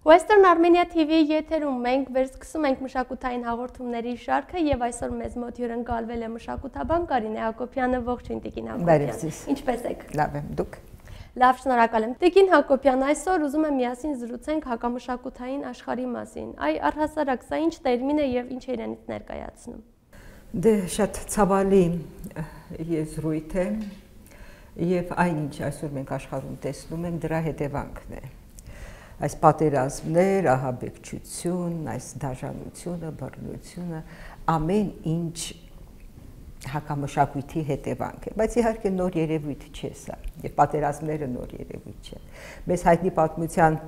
Western Armenia TV եթերում մենք վերսկսում ենք մշակութային հաղորդումների շարքը եւ այսօր մեզ մոտ հյուրընկալվել է մշակութաբան Կարինե Հակոբյանը, ողջույն Տիկին Հակոբյան։ Ինչպե՞ս եք։ Լավ եմ, դուք։ Լավ, շնորհակալ եմ։ Տիկին Հակոբյան, այսօր ուզում եմ միասին զրուցենք հակամշակութային աշխարհի մասին։ Այ առհասարակ սա ինչ տերմին է եւ ինչ է իրենից ներկայացնում։ Դե շատ ցավալի եզրույթ է եւ այնինչ այսօր մենք աշխարհում տեսնում ենք դրա հետևանքն է։ Այս պատերազմներ, ահաբեկչություն, այս դաժանությունը, բռնությունը, ամեն ինչ հակամշակույթի հետևանք է, բայց իհարկե նոր երևույթ չէ սա, եւ պատերազմները նոր երևույթ չէ։ Մեզ հայտնի պատմության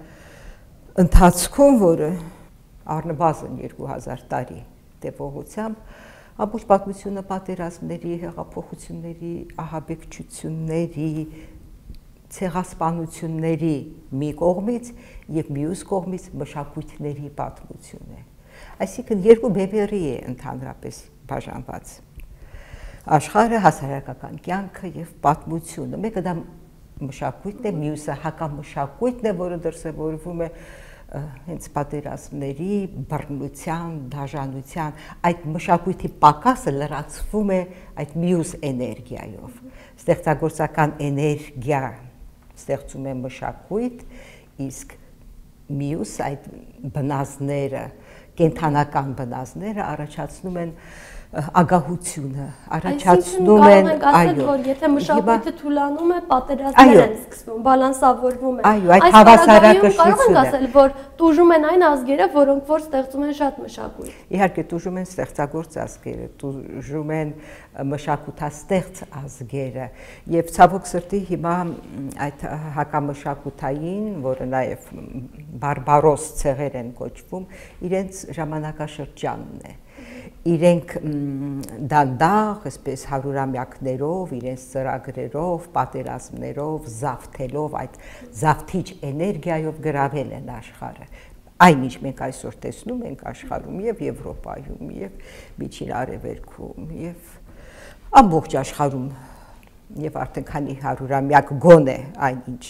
ընթացքում, որը առնվազն 2000 տարի տևողությամբ, ամբողջ պատմությունը պատերազմների, հեղափոխությունների, ահաբեկչությունների, ցեղասպանությունների մի կողմից եւ մյուս կողմից մշակույթների պատմություն է։ Այսինքն երկու բևեռի է ընդհանրապես բաժանված աշխարհը, հասարակական կյանքը եւ պատմությունը։ Մեկը դա մշակույթն է, մյուսը հակամշակույթն է, որը դրսևորվում է հենց պատերազմների, բռնության, դաժանության, այդ մշակույթի պակասը լրացվում է այդ մյուս էներգիայով։ Ստեղծագործական էներգիա ստեղծում է մշակույթ, իսկ մյուս այդ բնազները, կենդանական բնազները առաջացնում են ագահությունը, առաջացնում են, այո, որ եթե մշակույթը թուլանում է, պատերազմներ են սկսվում, բալանսավորվում են։ Այո, այդ հավասարակշռությունը։ Կարող ենք ասել, որ տուժում են այն ազգերը, որոնք որ ստեղծում են շատ մշակույթ։ Իհարկե, տուժում են ստեղծագործ ազգերը, տուժում են մշակութաստեղծ ազգերը, եւ ցավոք սրտի հիմա այդ հակամշակութային, որը նաեւ բարբարոս ցեղեր են կոչվում, իրենց ժամանակաշրջանն է։ Իրենք դանդաղ, այսպես հարյուրամյակներով, իրենց ծրագրերով, պատերազմներով, զավթելով, այդ զավթիչ էներգիայով գրավել են աշխարհը։ Այնինչ մենք այսօր տեսնում ենք աշխարհում եւ Եվրոպայում եւ Միջին Արևելքում եւ ամբողջ աշխարհում եւ արդեն քանի հարյուրամյակ գոնե այնինչ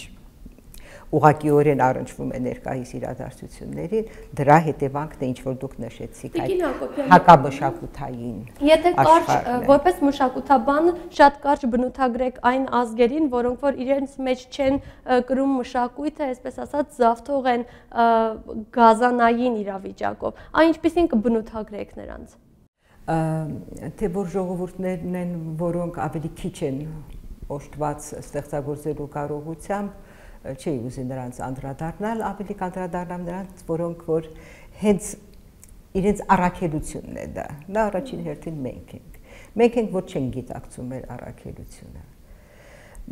ուղղակիորեն առնչվում է ներկայիս իրադարձություններին, դրա հետևանքն է ինչ որ դուք նշեցիք, այդ հակամշակութային։ Եթե կարճ որպես մշակութաբան շատ կարճ բնութագրեք այն ազգերին, որոնք որ իրենց մեջ չեն կրում մշակույթը, այսպես ասած, զավթող են գազանային իրավիճակով, այն ինչպեսին կբնութագրեք նրանց։ Թե որ ժողովուրդներն են, որոնք ավելի քիչ են օժտված ստեղծագործելու կարողությամբ, չի ուզի նրանց անդրադառնալ, ավելի կանդրադառնամ նրանց, որոնք որ հենց իրենց առաքելությունն է դա։ Դա առաջին հերթին մենք ենք։ Մենք ենք, որ չենք գիտակցում մեր առաքելությունը։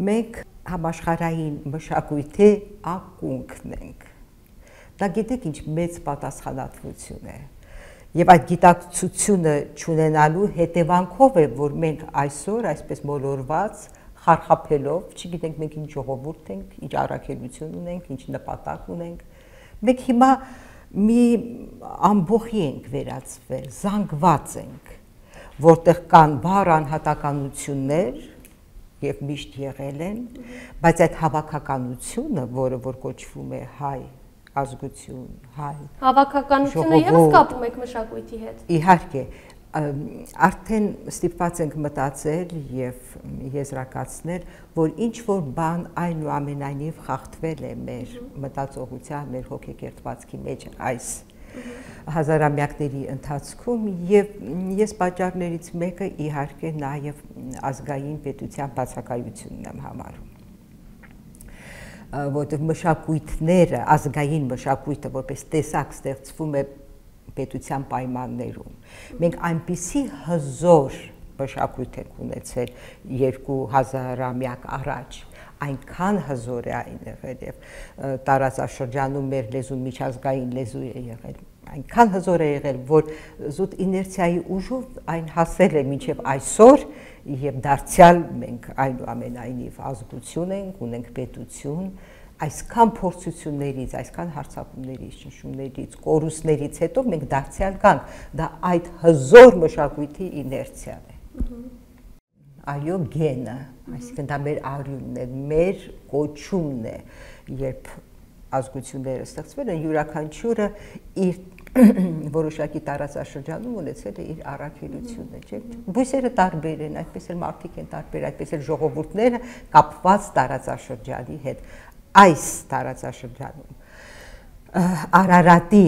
Մենք համաշխարհային մշակույթի ակունքն ենք։ Դա գիտեք ինչ մեծ պատասխանատվություն է։ Եվ այդ գիտակցությունը չունենալու հետևանքով է, որ մենք այսօր այսպես մոլորված խարխափելով, չգիտենք մենք ինչ ժողովուրդ ենք, ինչ առաքելություն ունենք, ինչ նպատակ ունենք։ Մենք հիմա մի ամբողջի ենք վերածվել, զանգված ենք, որտեղ կան բառ անհատականություններ եւ միշտ եղել են, բայց այդ հավաքականությունը, որը որ կոչվում է հայ ազգություն, հայ հավաքականությունը եւս կապում եք մշակույթի հետ։ Իհարկե, արդեն ստիպված ենք մտածել եւ եզրակացնել, որ ինչ որ բան այնուամենայնիվ խախտվել է մեր մտածողության, մեր հոգեկերտվածքի մեջ այս հազարամյակների ընթացքում եւ ես պատճառներից մեկը իհարկե նաեւ ազգային պետության բացակայությունն եմ համարում։ Որտեղ մշակույթները, ազգային մշակույթը որպես տեսակ ստեղծվում է պետության պայմաններում։ Մենք այնպիսի հզոր մշակույթ ենք ունեցել 2000-ամյակ առաջ, այնքան հզոր է այն եղել եւ տարածաշրջանում մեր լեզուն միջազգային լեզու է եղել, այնքան հզոր է եղել, որ զուտ իներցիայի ուժով այն հասել է մինչեւ այսօր եւ դարձյալ մենք այնուամենայնիվ ազգություն ենք, ունենք պետություն, այսքան փորձություններից, այսքան հարձակումներից, ճնշումներից, կորուստներից հետո մենք դարձյալ կանք, դա այդ հզոր մշակույթի իներցիան է։ Այո, գենը, այսինքն դա մեր արյունն է, մեր կոչումն է, երբ ազգությունները ստեղծվել են, յուրաքանչյուրը իր որոշակի տարածաշրջանում ունեցել է իր առաքելությունը, չէ՞։ Բույսերը տարբեր են, այդպես էլ մարդիկ են տարբեր, այդպես էլ ժողովուրդները կապված տարածաշրջանի հետ։ Այս տարածաշրջանում Արարատի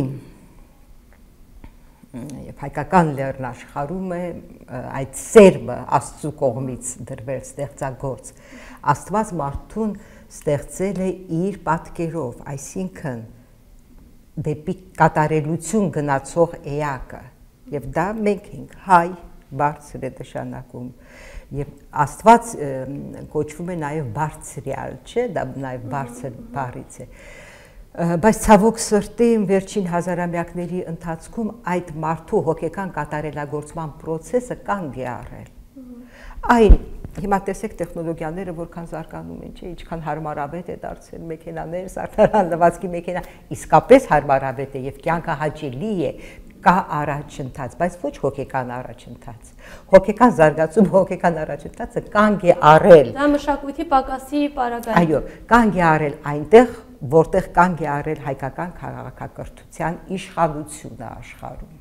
եւ հայկական լեռնաշխարհում է այդ սերմը Աստծո կողմից դրվել ստեղծագործ։ Աստված մարդուն ստեղծել է իր պատկերով, այսինքն դեպի կատարելություն գնացող էակը, եւ դա մենք ենք, հայ, բարձր է նշանակում, եւ Աստված կոչվում է նաեւ բարձրյալ, չէ՞, դա նաեւ բարձր բառից է, բայց ցավոք սրտի վերջին հազարամյակների ընթացքում այդ մարդու հոգեկան կատարելագործման process-ը կանգ է առել, այն Հիմա տեսեք տեխնոլոգիաները որքան զարգանում են, չէ՞, ինչքան հարմարավետ է դարձել մեքենաներ, սարքարան լվացքի մեքենա, իսկապես հարմարավետ է եւ կյանքը հաճելի է, կա առաջընթաց, բայց ոչ հոգեկան առաջընթաց։ Հոգեկան զարգացում, հոգեկան առաջընթացը կանգ է առել։ Դա մշակույթի պակասի պարագայում։ Այո, կանգ է առել այնտեղ, որտեղ կանգ է առել հայկական քաղաքակրթության իշխանությունը աշխարհում։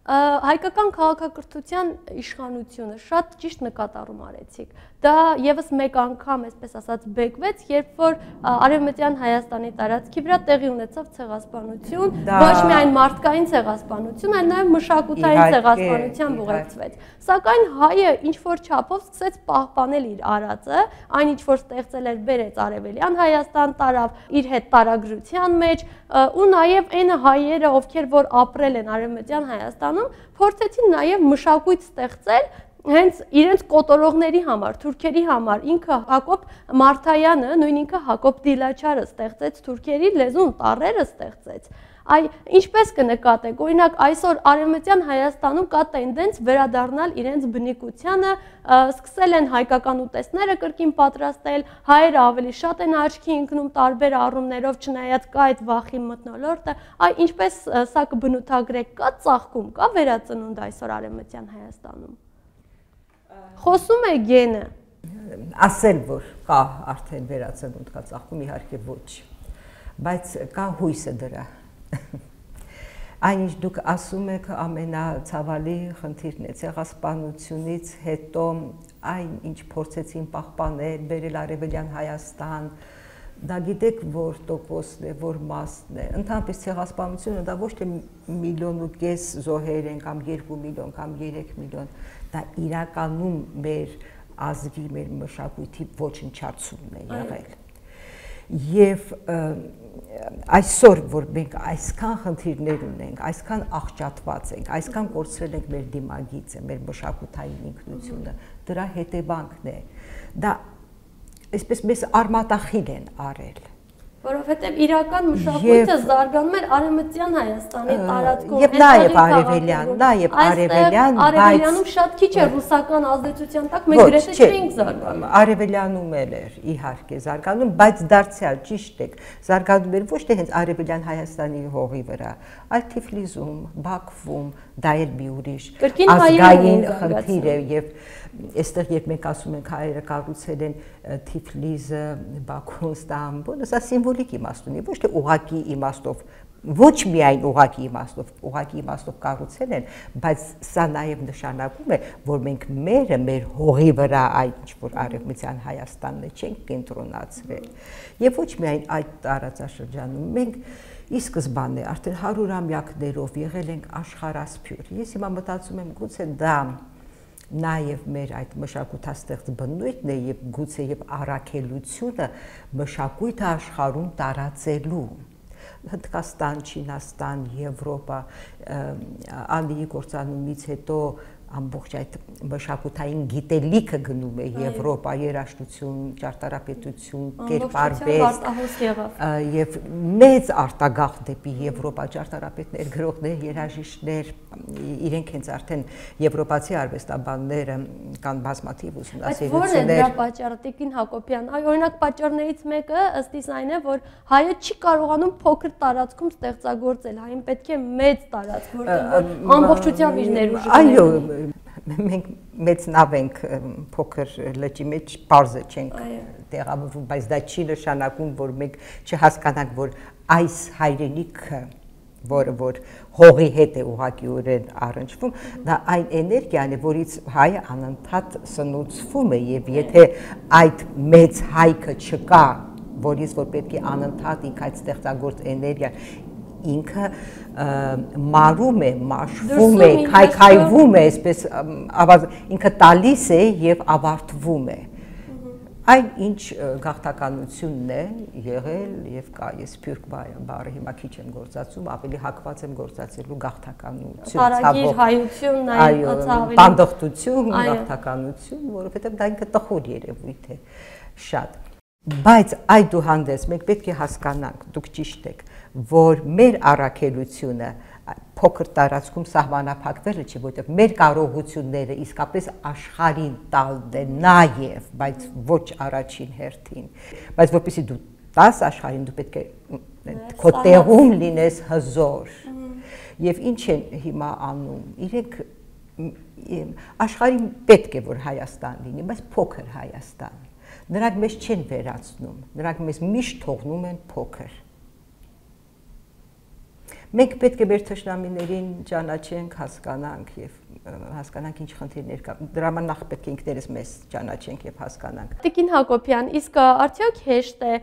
Հայկական քաղաքակրթության իշխանությունը շատ ճիշտ նկատառում արեցիք։ Դա եւս մեկ անգամ, այսպես ասած, բեկվեց, երբ որ Արևմտյան Հայաստանի տարածքի վրա տեղի ունեցավ ցեղասպանություն, ոչ միայն մարդկային ցեղասպանություն, այլ նաեւ մշակութային ցեղասպանությամբ ուղեկցվեց։ Սակայն հայը ինչ որ չափով սկսեց պահպանել իր արածը, այն ինչ որ ստեղծել էր, բերեց Արևելյան Հայաստան, տարավ իր հետ տարագրության մեջ, ու նաեւ այն հայերը, ովքեր որ ապրել են Արևմտյան Հայաստանում, փորձեցին նաև մշակույթ ստեղծել հենց իրենց կոտորողների համար, թուրքերի համար։ Ինքը Հակոբ Մարթայանը, նույն ինքը Հակոբ Դիլաչարը ստեղծեց թուրքերի լեզուն, տառերը ստեղծեց։ Ինչպես կնկատեք, օրինակ այսօր Արևմտյան Հայաստանում կա տենդենց վերադառնալ իրենց բնիկությանը, սկսել են հայկական ուտեստները կրկին պատրաստել, հայերը ավելի շատ են աչքի ընկնում տարբեր առումներով, չնայած կա այդ վախի մթնոլորտը, ինչպես սա կբնութագրեք, կա ծաղկում, կա վերածնունդ այսօր Արևմտյան Հայաստանում։ Խոսում է գենը։ Ասել, որ կա արդեն վերածնունդ, կա ծաղկում, իհարկե ոչ, բայց կա հույսը դրա։ Այն ինչ դուք ասում եք ամենացավալի խնդիրն է, ցեղասպանությունից հետո այն ինչ փորձեցին պահպանել, բերել Արևելյան Հայաստան, դա գիտեք որ տոկոսն է, որ մասն է, ընդհանրապես ցեղասպանությունը դա ոչ թե 1,5 միլիոն զոհեր են կամ 2 միլիոն կամ 3 միլիոն, դա իրականում մեր ազգի, մեր մշակույթի ոչնչացումն է եղել։ Եվ այսօր, որ մենք այսքան խնդիրներ ունենք, այսքան աղճատված ենք, այսքան կորցրել ենք մեր դիմագիծը, մեր մշակութային ինքնությունը, դրա հետևանքն է, դա այսպես մեզ արմատախիլ են արել։ Որովհետև իրական մշակույթը զարգանում էր Արևմտյան Հայաստանի տարածքում։ Եվ նաև արևելյան, Արևելյանում շատ քիչ է ռուսական ազդեցության տակ, մենք գրեթե չենք զարգանում։ Արևելյանում էլ էր իհարկե զարգանում, բայց դարձյալ ճիշտ եք, զարգանում էր ոչ թե հենց Արևելյան Հայաստանի հողի վրա, այլ Թիֆլիսում, Բաքվում, դա էլ մի ուրիշ ազգային խնդիր է եւ այստեղ երբ մենք ասում ենք հայերը կառուցել են Թիֆլիսը, Բաքուն, Ստամբուլը, սա սիմվոլիկ իմաստ ունի, ոչ թե ուղղակի իմաստով, ոչ միայն ուղղակի իմաստով կառուցել են, բայց սա նաև նշանակում է, որ մենք մեր հողի վրա այդ ինչ որ Արևմտյան Հայաստանն է չենք կենտրոնացրել։ Եվ ոչ միայն այդ տարածաշրջանում մենք ի սկզբանե արդեն 100-ամյակներով եղել ենք աշխարհասփյուր։ Ես հիմա մտածում եմ գուցե դա նաև մեր այդ մշակութաստեղծ բնույթն է եւ գուցե եւ առաքելությունը մշակույթը աշխարհում տարածելու Հնդկաստան, Չինաստան, Եվրոպա, Ալիի կործանումից հետո ամբողջ այդ մշակութային գիտելիքը գնում է Եվրոպա, երաժշտություն, ճարտարապետություն, կերպարվեստ եւ մեծ արտագաղթ դեպի Եվրոպա ճարտարապետներ, գրողներ, երաժիշտներ, իրենք հենց արդեն եվրոպացի արվեստաբանները կան բազմաթիվ ուսումնասիրություններ։ Բայց ո՞րն է դրա պատճառը, Տիկին Հակոբյան։ Օրինակ պատճառներից մեկը ըստ իս այն է, որ հայը չի կարողանում փոքր տարածքում ստեղծագործել, հային պետք է մեծ տարածք, որտեղ ամբողջությամբ իր ներուժը։ Այո, մենք մեծ նավ ենք փոքր լճի մեջ բարձր չենք տեղավորվում, բայց դա չի նշանակում, որ մենք չհասկանանք, որ այս հայրենիքը, որ հողի հետ է ուղղակիորեն առնչվում, դա այն էներգիան է, որից հայը անընդհատ սնուցվում է, եւ եթե այդ մեծ հայքը չկա, որից որ պետք է անընդհատ ինք այդ ստեղծագործ էներգիան ինքը մարում է, մաշվում է, քայքայվում է, այսպես ինքը տալիս է եւ ավարտվում է։ Այն ինչ գաղթականությունն է եղել եւ կա, ես սփյուռք բառը հիմա քիչ եմ գործածում, ավելի հակված եմ գործածելու գաղթականություն, հարագիր հայություն, այո, բանդախտություն, գաղթականություն, որովհետեւ դա ինքը տխուր երևույթ է շատ։ Բայց այդուհանդերձ մենք պետք է հասկանանք, դուք ճիշտ եք, որ մեր առաքելությունը փոքր տարածքում սահմանափակվելը չի, որտեղ մեր կարողությունները իսկապես աշխարհին տալն է նաև, բայց ոչ առաջին հերթին, բայց որպեսզի դու տաս աշխարհին, դու պետք է քո տեղում լինես հզոր։ Եվ ինչ են հիմա անում, իրենք աշխարհին պետք է որ Հայաստան լինի, բայց փոքր Հայաստան։ Նրանք մեզ չեն վերացնում, նրանք մեզ միշտ թողնում են փոքր։ Մենք պետք է մեր թշնամիներին ճանաչենք, հասկանանք եւ հասկանանք ինչ խնդիրներ կա։ Դրա համար նախ պետք է ինքներս մեզ ճանաչենք եւ հասկանանք։ Տիկին Հակոբյան, իսկ արդյոք հեշտ է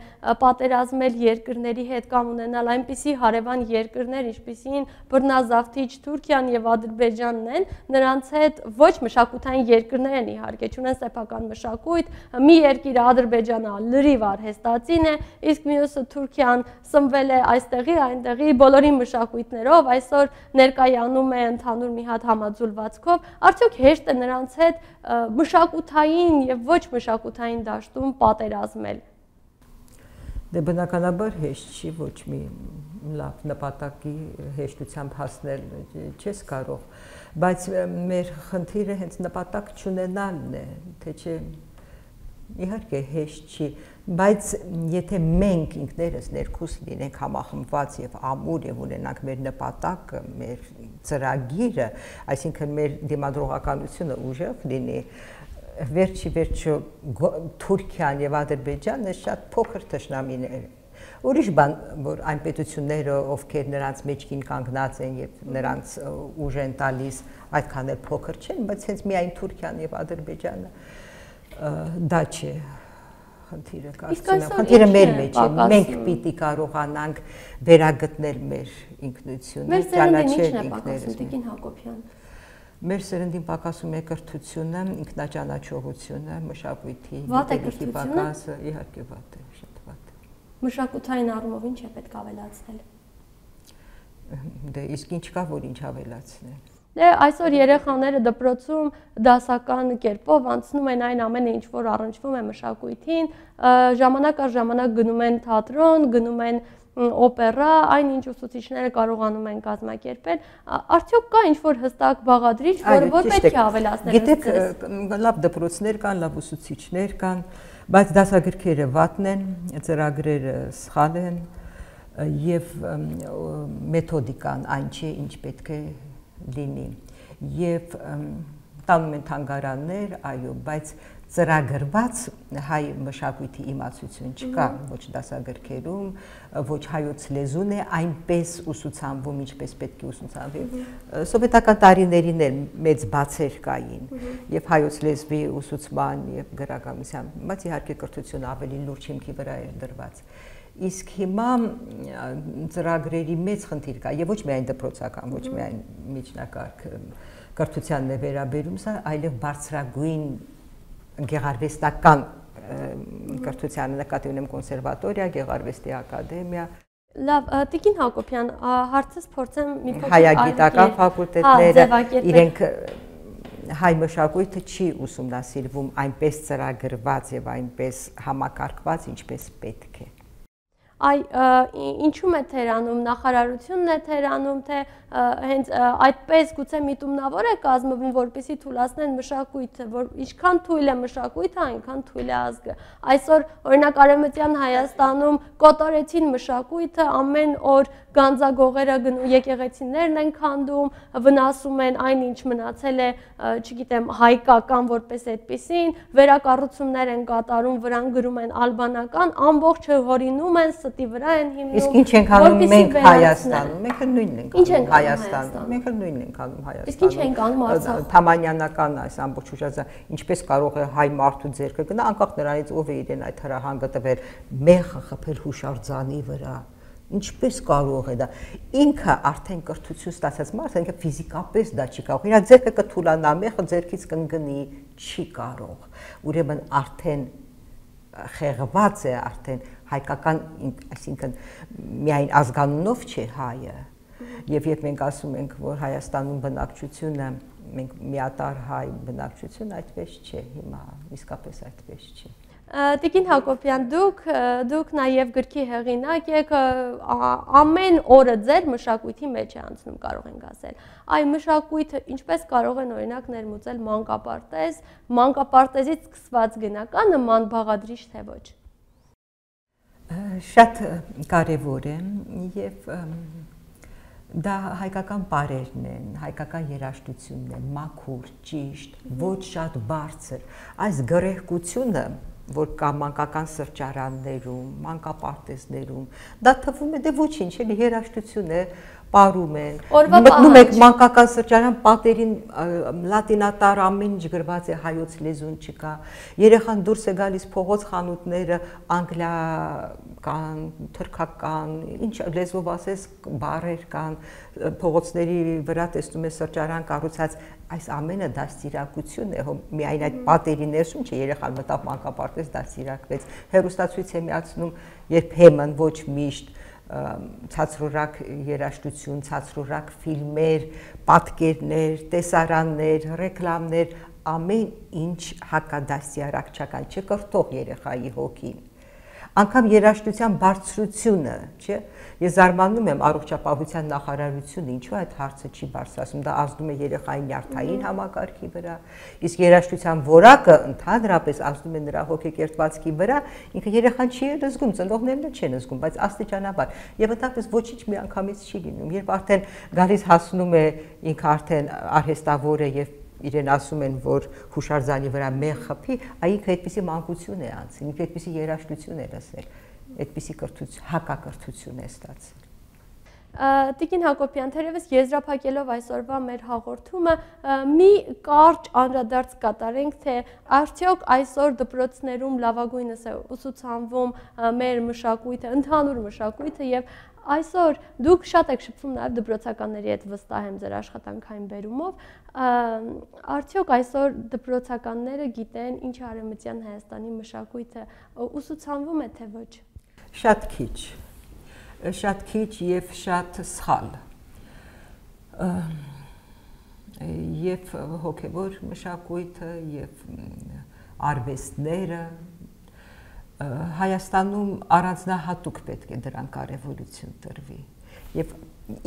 պատերազմել երկրների հետ կամ ունենալ այնպիսի հարևան երկրներ, ինչպիսին բռնազավթիչ Թուրքիան եւ Ադրբեջանն են, նրանց հետ ոչ մշակութային երկրներ են իհարկե, չունեն սեփական մշակույթ, մի երկիրը Ադրբեջանը լրիվ արհեստածին է, իսկ մյուսը Թուրքիան սնվել է այստեղի, այնտեղի բոլորի մշակույթներով, այսօր ներկայանում է ընդհանուր մի հատ համաձուլվածքով, արդյոք հեշտ է նրանց հետ մշակութային եւ ոչ մշակութային դաշտում պատերազմել։ Դե բնականաբար հեշտ չի, ոչ մի լավ նպատակի հեշտությամբ հասնել չես կարող, բայց մեր խնդիրը հենց նպատակ չունենալն է, թե չէ իհարկե հեշտ չի, բայց եթե մենք ինքներս ներքուս լինենք համախմբված եւ ամուր եւ ունենանք մեր նպատակը, մեր ծրագիրը, այսինքն մեր դիմադրողականությունը ուժեղ լինի, վերջի վերջո Թուրքիան եւ Ադրբեջանը շատ փոքր թշնամիներ են։ Ուրիշ բան, որ այն պետությունները, ովքեր նրանց մեջքին կանգնած են եւ նրանց ուժ են տալիս, այդքան էլ փոքր չեն, բայց հենց միայն Թուրքիան եւ Ադրբեջանը դա չէ խնդիրը, կարծում եմ, խնդիրը մեր մեջ է, մենք պիտի կարողանանք վերագտնել մեր ինքնությունը, ճանաչել ինքներս։ Տիկին Հակոբյան, մեր սերնդին պակասում է կրթությունը, ինքնաճանաչողությունը, մշակույթի, գիտելիքի պակասը, իհարկե վատ է, շատ վատ է։ Մշակութային առումով ինչ է պետք ավելացնել։ Դե իսկ ինչ կա, որ ինչ ավելացնել։ Դե այսօր երեխաները դպրոցում դասական կերպով անցնում են այն ամենը, ինչ որ առնչվում է մշակույթին, ժամանակ առ ժամանակ գնում են թատրոն, գնում են օպերա, այն ինչ ուսուցիչները կարողանում են կազմակերպել, արդյոք կա ինչ որ հստակ բաղադրիչ, որ պետք է ավելացնել։ Գիտեք, լավ դպրոցներ կան, լավ ուսուցիչներ կան, բայց դասագրքերը վատն են, ծրագրերը սխալ են եւ մեթոդիկան այն չէ, ինչ պետք է լինի եւ տանում են թանգարաններ, այո, բայց ծրագրված հայ մշակույթի իմացություն չկա, ոչ դասագրքերում, ոչ հայոց լեզուն է այնպես ուսուցանվում, ինչպես պետք է ուսուցանվի։ Սովետական տարիներին էլ մեծ բացեր կային եւ հայոց լեզվի ուսուցման եւ գրականության, բայց իհարկե կրթությունը ավելի լուրջ հիմքի վրա էր դրված։ Իսկ հիմա ծրագրերի մեծ խնդիր կա եւ ոչ միայն դպրոցական, ոչ միայն միջնակարգ կրթությանն է վերաբերում սա, այլև բարձրագույն գեղարվեստական կրթությանը նկատի ունեմ կոնսերվատորիա, գեղարվեստի ակադեմիա։ Լավ, Տիկին Հակոբյան, հարցս փորձեմ մի փոքր հայագիտական ֆակուլտետները իրենք հայ մշակույթը չի ուսումնասիրվում այնպես ծրագրված եւ այնպես համակարգված, ինչպես պետք է։ Այ ինչու՞մ է թերանում, նախարարությունն է թերանում, թե հենց այդպես գուցե միտումնավոր է կազմվում, որպեսզի թույլատնեն մշակույթը, որ ինչքան թույլ է մշակույթը, այնքան թույլ է ազգը։ Այսօր օրինակ Արևմտյան Հայաստանում կոտորեցին մշակույթը, ամեն օր գանձագողերը գնում եկեղեցիներն են քանդում, վնասում են այնինչ մնացել է, չգիտեմ, հայկական որպես այդպեսին, վերակառուցումներ են կատարում, վրան գրում են ալբանական, ամբողջը հորինում են, ստի վրա են հիմնում։ Իսկ ինչ ենք անում մենք Հայաստանում, մենք նույնն ենք անում Հայաստանում, մենք նույնն ենք անում Հայաստանում։ Իսկ ինչ ենք անում Արցախում։ Թամանյանական այս ամբողջ ուժածը ինչպես կարող է հայ մարդու ձեռքը գնա, անկախ նրանից ով է իրեն այդ հրահանգը տվել, մեխը խփել հուշարձանի վրա։ Ինչպես կարող է դա։ Ինքը արդեն կրթություն ստացած մարդը, ինքը ֆիզիկապես դա չի կարող։ Իր ձեռքը կթուլանա, մեխը ձեռքից կընկնի, չի կարող։ Ուրեմն արդեն խեղված է, արդեն հայկական, այսինքն միայն ազգանունով չէ հայը։ Եվ երբ մենք ասում ենք, որ Հայաստանում բնակչությունը, մենք միատար հայ բնակչություն, այդպես չէ, հիմա իսկապես այդպես չէ։ Տիկին Հակոբյան, դուք նաև գրքի հեղինակ եք, ամեն օրը ձեր մշակույթի մեջ է անցնում, կարող ենք ասել։ Այ մշակույթը ինչպես կարող են օրինակ ներմուծել մանկապարտեզ, մանկապարտեզից սկսված գնական նման բաղադրիչ թե ոչ։ Շատ կարևոր է եւ դա հայկական պարերն են, հայկական երաժշտությունն է, մաքուր, ճիշտ, ոչ շատ բարձր։ Այս գրեհկությունը, որ կա մանկական սրճարաններում, մանկապարտեզներում, դա թվում է դե ոչինչ, էլի երաժշտություն է, պարում են, մտնում եք մանկական սրճարան, պատերին լատինատար ամեն ինչ գրված է, հայոց լեզուն չկա, երեխան դուրս է գալիս փողոց խանութները, անգլիական, թրքական, ինչ լեզվով ասես բառեր կան, փողոցների վրա տեսնում է սրճարան կառուցած, այս ամենը դաստիարակություն է, միայն այդ պատերի ներսում չէ, երեխան մտավ մանկապարտեզ դաստիարակվեց, հեռուստացույց է միացնում երբեմն ոչ միշտ ցածրորակ երաժշտություն, ցածրորակ ֆիլմեր, պատկերներ, տեսարաններ, ռեկլամներ, ամեն ինչ հակադաստիարակչական չկրթող երեխայի հոգին։ Անկամ երաժշտության բարձրությունը, չէ՞։ Ես զարմանում եմ առողջապահության նախարարությունը, ինչու այդ հարցը չի բարձրացնում, դա ազդում է երեխայի նյարդային համակարգի վրա, իսկ երաժշտության որակը ընդհանրապես ազդում է նրա հոգեկերտվածքի վրա, ինքը երեխան չի զգում, ծնողներն էլ չեն զգում, բայց աստիճանաբար, եւ ընդհանրապես ոչինչ միանգամից չի լինում, երբ արդեն գալիս հասնում է, ինքը արդեն արհեստավոր է եւ իրեն ասում են, որ հուշարձանի վրա մեղ խփի, ինքը այդպիսի մանկություն է անցել, ինքը այդպիսի երաժշտություն է լսել, այդպիսի հակակրթություն է ստացել։ Տիկին Հակոբյան, թերևս եզրափակելով այսօրվա մեր հաղորդումը, մի կարճ անդրադարձ կատարենք, թե արդյոք այսօր դպրոցներում լավագույնս է ուսուցանվում մեր մշակույթը, ընդհանուր մշակույթը եւ այսօր դուք շատ եք շփվում նաև դպրոցականների հետ, վստահ եմ ձեր աշխատանքային բերումով, արդյոք այսօր դպրոցականները գիտեն ինչ արևմտյան Հայաստանի մշակույթը ուսուցանվում է թե ոչ։ Շատ քիչ եւ շատ սխալ։ Եվ հոգեվոր մշակույթը եւ արվեստները Հայաստանում առանձնահատուկ պետք է դրան կարևորություն տրվի եւ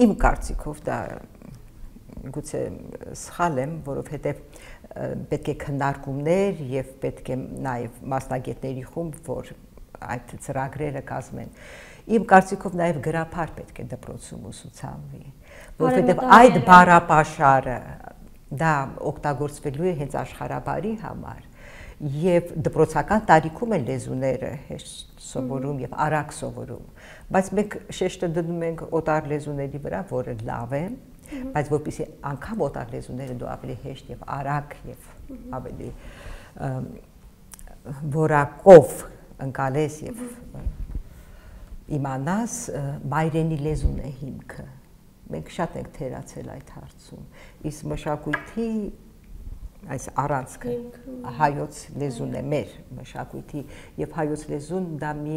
իմ կարծիքով դա գուցե սխալ եմ, որովհետեւ պետք է քննարկումներ եւ պետք է նաեւ մասնագետների խումբ, որ այդ ծրագրերը կազմեն։ Իմ կարծիքով նաեւ գրափար պետք է դպրոցում ուսուցանվի, որովհետեւ այդ բառապաշարը դա օգտագործվելու է հենց աշխարհաբարի համար։ Եվ դպրոցական տարիքում են լեզուները հեշտ սովորում եւ արագ սովորում, բայց մենք շեշտը դնում ենք օտար լեզուների վրա, որը լավ է, բայց որպեսզի անգամ օտար լեզուները դու ավելի հեշտ եւ արագ եւ ավելի որակով ընկալես եւ իմանաս, մայրենի լեզուն է հիմքը։ Մենք շատ ենք թերացել այդ հարցում, իսկ մշակույթի այս առանցքը հայոց լեզուն է մեր մշակույթի եւ հայոց լեզուն դա մի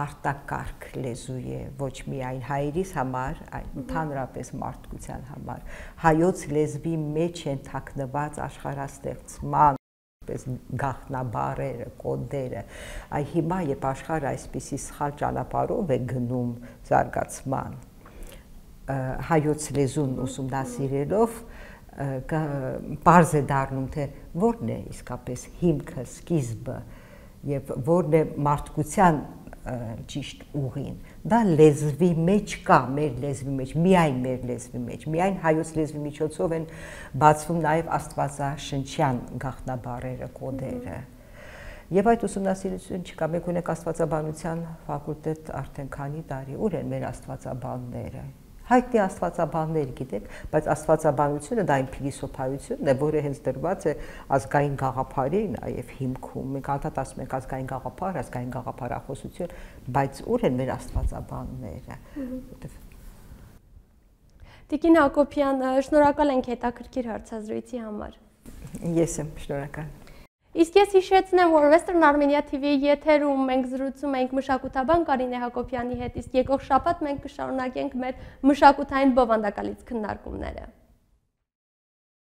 արտակարգ լեզու է ոչ միայն հայերիս համար, այլ ընդհանրապես մարդկության համար։ Հայոց լեզվի մեջ են թաքնված աշխարհաստեղծման պես գաղտնաբառերը, կոդերը։ Այ հիմա երբ աշխարհը այսպիսի սխալ ճանապարհով է գնում զարգացման, հայոց լեզուն ուսումնասիրելով պարզ է դառնում, թե որն է իսկապես հիմքը, սկիզբը եւ որն է մարդկության ճիշտ ուղին։ Դա լեզվի մեջ կա, մեր լեզվի մեջ, միայն մեր լեզվի մեջ, միայն հայոց լեզվի միջոցով են բացվում նաև աստվածաշնչյան գաղտնաբառերը, կոդերը։ Եվ այդ ուսումնասիրություն չկա, մենք ունենք աստվածաբանության ֆակուլտետ արդեն քանի տարի, ուր են մեր աստվածաբանները։ Հայտնի աստվածաբաններ գիտեք, բայց աստվածաբանությունը դա այն փիլիսոփայությունն է, որը հենց դրված է ազգային գաղափարի նաև հիմքում։ Մենք անդադ ասում ենք ազգային գաղափարախոսություն, բայց ուր են մեր աստվածաբանները։ Տիկին Հակոբյան, շնորհակալ ենք հետաքրքիր հարցազրույցի համար։ Ես եմ շնորհակալ։ Իսկ ես հիշեցնեմ, որ Western Armenia TV-ի եթերում մենք զրուցում ենք մշակութաբան Կարինե Հակոբյանի հետ, իսկ եկող շաբաթ մենք կշարունակենք մեր մշակութային բովանդակալից քննարկումները։